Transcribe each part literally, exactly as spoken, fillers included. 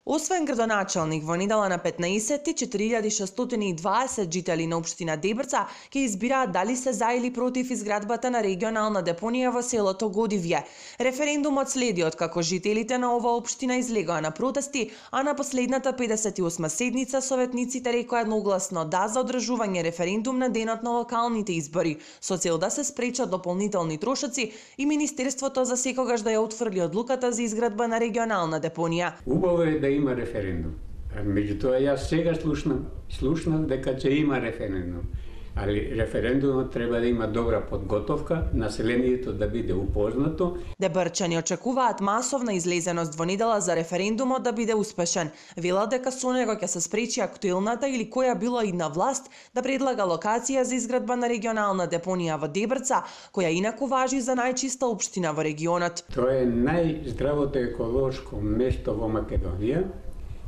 Освен градоначалник, во недела на петнаесетти четири илјади шестстотини и дваесет жители на општина Дебрца ќе избираат дали се за или против изградбата на регионална депонија во селото Годивје. Референдумот следи откако жителите на оваа општина излегоа на протести, а на последната педесет и осма седница советниците рекоа едногласно да за одржување референдум на денот на локалните избори, со цел да се спречат дополнителни трошоци и Министерството за секогаш да ја отфрли одлуката за изградба на регионална депонија. Убаво е да има референдум. Меѓутоа, јас сега слушнав, слушнав дека ќе има референдум. Али референдумот треба да има добра подготовка, населението да биде упознато. Дебрчани очекуваат масовна излезеност во недела за референдумот да биде успешен. Велат дека со него ќе се спречи актуелната или која било и на власт да предлага локација за изградба на регионална депонија во Дебрца, која инаку важи за најчиста општина во регионот. Тоа е најздравото еколошко место во Македонија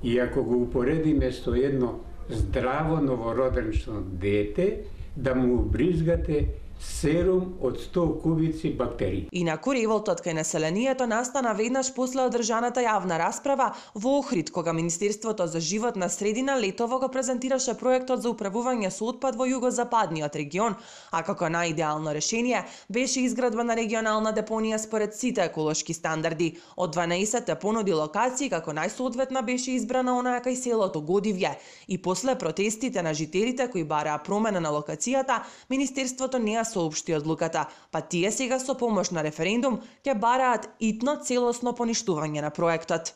и ако го упоредиме со едно здраво новородено дете, да му убризгате серум од сто кубици бактерии. Инаку револтот кај населението настана веднаш после одржаната јавна расправа во Охрид, кога Министерството за животна средина летово го презентираше проектот за управување со отпад во југозападниот регион, а како најидеално решение беше изградба на регионална депонија според сите еколошки стандарди. Од дванаесет понуди локации, како најсоодветна беше избрана онаа кај селото Годивје. И после протестите на жителите кои бараа промена на локацијата, Министерството не ја соопшти одлуката, па тие сега со помош на референдум ќе бараат итно целосно поништување на проектот.